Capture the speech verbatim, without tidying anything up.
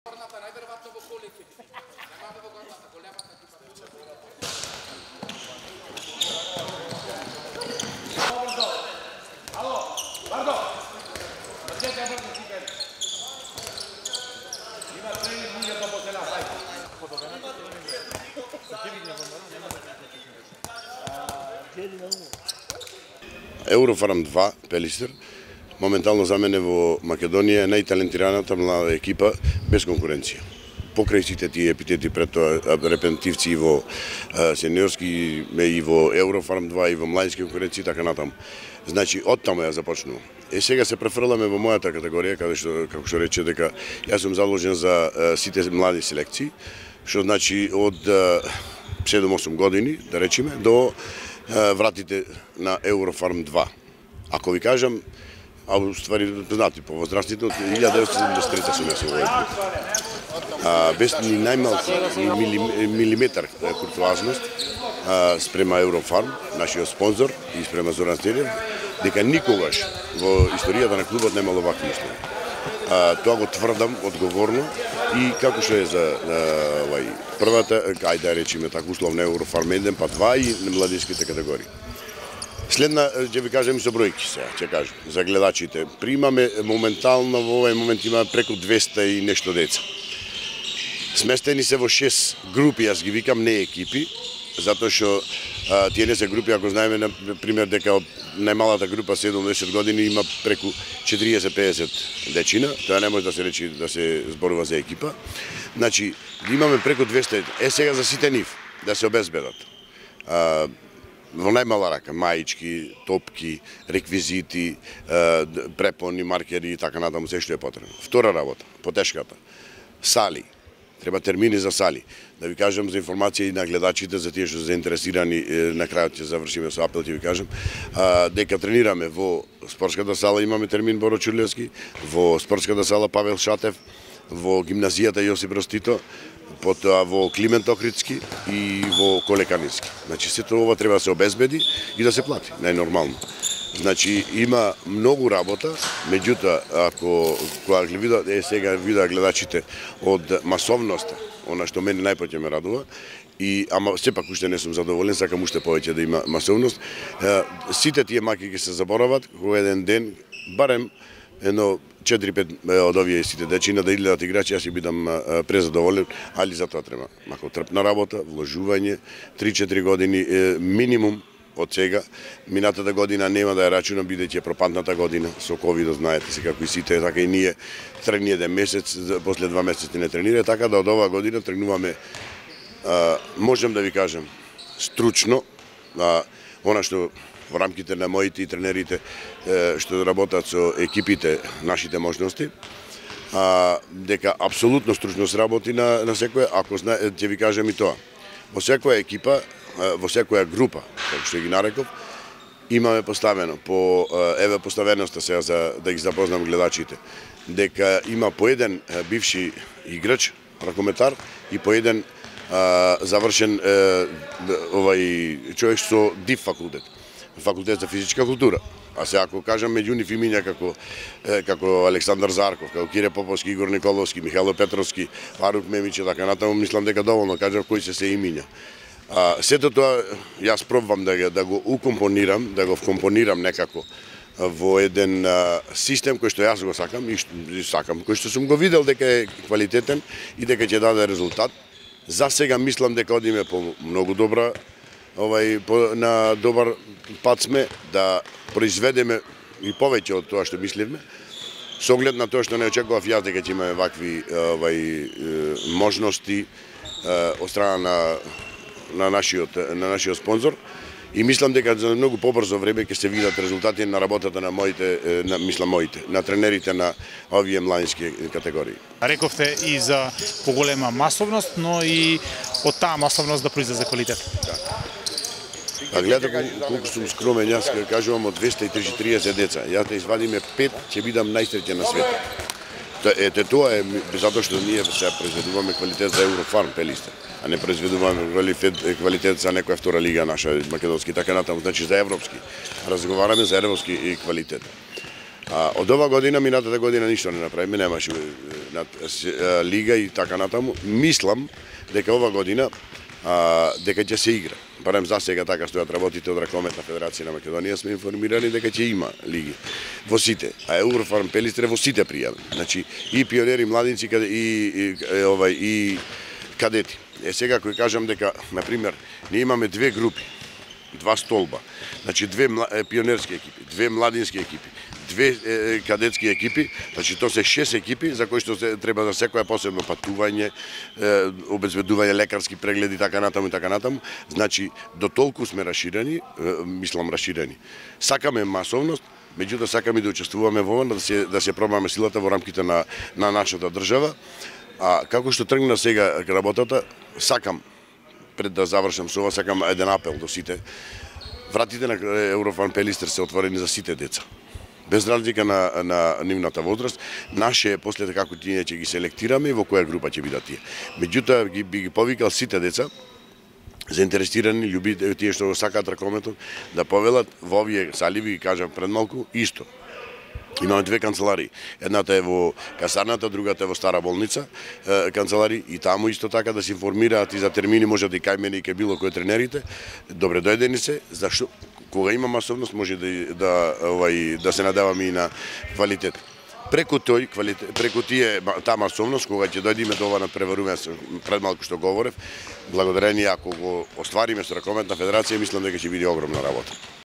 Најверојатно во колите. Немаме во горната, големата екипа. Ало, Вардо. Зачете брзо си бери. Има тренинг луѓето по села, ајде. Подобрената тренинг. Сакивиње во мора, нема да се Еврофарм два, Пелистер, моментално за мене во Македонија е најталентираната млада екипа без конкуренција. Покрај сите тие епитети пред тоа репентивци и во сениорски и во Еврофарм два и во младински конкуренции така натаму. Значи оттаму ја започнува. Е сега се префрламе во мојата категорија каде што како што рече дека јас сум заложен за сите млади селекции, што значи од седум-осум години, да речеме, до вратите на Еврофарм два. Ако ви кажам, а уствари знати по возрастите од илјада деветстотини седумдесет и трета сум јас овој. Без ни најмал милиметар куртуазност спрема Еврофарм, нашиот спонзор и спрема Зоран Стелиев, дека никогаш во историјата на клубот немало вакви услови. Тоа го тврдам одговорно и како што е за овај првата, ајде да речеме така условно Еврофарм еден па два и младинските категории. Следна, ќе ви кажам и со бројки сега, ќе кажам, за гледачите. Примаме моментално во овој момент имаме преку двеста и нешто деца. Сместени се во шест групи, јас ги викам не екипи, затоа што тие не се групи, ако знаеме на пример дека најмалата група седумдесет години има преку четириесет-пеесет дечина, тоа не може да се речи да се зборува за екипа. Значи, имаме преку двеста, е сега за сите нив да се обезбедат. Во најмала рака, маички, топки, реквизити, препони, маркери и така натаму, се што е потребно. Втора работа, потешката, сали. Треба термини за сали. Да ви кажам за информација и на гледачите, за тие што се заинтересирани, на крајот ќе завршиме со апел, ќе ви кажам, дека тренираме во спортската сала, имаме термин Боро Чурлевски, во спортската сала Павел Шатев, во гимназијата Јосип Брз Тито, потоа во Климент Охридски и во Колеканински. Значи, сето ова треба да се обезбеди и да се плати, најнормално. Значи, има многу работа, меѓутоа, ако кога ги видат, е сега видат гледачите од масовноста, она што мене најпоќе ме радува, и ама сепак уште не сум задоволен, сакам уште повеќе да има масовност. Сите тие маки ќе се заборават кога еден ден, барем едно четири-пет од овие сите дечина да идат играчи, јас ќе бидам презадоволен, али за тоа треба мако трпна работа, вложување, три-четири години минимум од сега. Минатата година нема да ја рачунам, бидејќи пропадната година со ковид, знаете се како и сите, така и ние тргни еден месец, после два месеци не тренира, така да од оваа година тргнуваме, можем да ви кажам, стручно, она што во рамките на моите и тренерите што работат со екипите, нашите можности, дека апсолутно стручно се работи на, на секоја, ако знае, ќе ви кажам и тоа. Во секоја екипа, во секоја група, како што ги нареков, имаме поставено, по, еве поставеноста сега за да ги запознам гледачите, дека има по еден бивши играч, ракометар, и по еден а, завршен а, овај човек со ДИФ факултет, факултет за физичка култура. А сега ако кажам меѓу нив имиња како како Александар Зарков, како Кире Поповски, Игор Николовски, Михајло Петровски, Фарук Мемич и така натаму, мислам дека доволно кажав кои се се имиња. А, сето тоа јас пробвам да, да го укомпонирам, да го вкомпонирам некако во еден а, систем кој што јас го сакам и, и сакам, кој што сум го видел дека е квалитетен и дека ќе даде резултат. За сега мислам дека одиме по многу добра, овај по, на добар пат сме да произведеме и повеќе од тоа што мисливме. Со оглед на тоа што не очекував јас дека ќе имаме вакви овај можности од страна на на нашиот на нашиот спонзор и мислам дека за многу побрзо време ќе се видат резултати на работата на моите на мислам моите на тренерите на овие младински категории. Рековте и за поголема масовност, но и од таа масовност да произлезе квалитет. Да. А гледате колку сум скромен, јас кажувам од двеста и триесет деца, јас да извадиме пет, ќе бидам најсреќен на светот. Ете тоа е затоа што ние сега произведуваме квалитет за Еврофарм Пелистер, а не произведуваме квалитет за некоја втора лига наша македонски, така натаму, значи за европски. Разговараме за европски квалитет. А од ова година, минатата година ништо не направиме, немаше лига и така натаму. Мислам дека ова година а, дека ќе се игра. Барем за сега така стојат работите од Ракометна Федерација на Македонија, сме информирани дека ќе има лиги во сите, а Еврофарм Пелистре во сите пријави. Значи и пионери, младинци и, и, и овај и кадети. Е сега кој кажам дека на пример ние имаме две групи, два столба. Значи две пионерски екипи, две младински екипи, две е, кадетски екипи, значи тоа се шест екипи за кои што се, треба за секоја посебно патување, е, обезбедување лекарски прегледи така натаму и така натаму. Значи до толку сме расширени, е, мислам расширени. Сакаме масовност, меѓутоа сакаме да учествуваме во ова, да се да се пробаме силата во рамките на на нашата држава. А како што тргна сега работата, сакам пред да завршам со ова, сакам еден апел до сите. Вратите на Еврофарм Пелистер се отворени за сите деца. Без разлика на, на нивната возраст, наше е после како тие ќе ги селектираме и во која група ќе бидат тие. Меѓутоа ги би ги повикал сите деца заинтересирани, љубители, тие што сакаат ракометот, да повелат во овие саливи, ги кажам пред малку, исто. Имаме две канцеларии. Едната е во касарната, другата е во стара болница, е, канцеларии, и таму исто така да се информираат и за термини, може да и кај мене и кај било кој тренерите. Добре дојдени се, зашто кога има масовност може да да овај да се надеваме и на квалитет. Преку тој квалитет, преку тие таа масовност, кога ќе дојдеме до ова надпреварување, пред малку што говорев, благодарение ако го оствариме со Ракометна Федерација, мислам дека ќе биде огромна работа.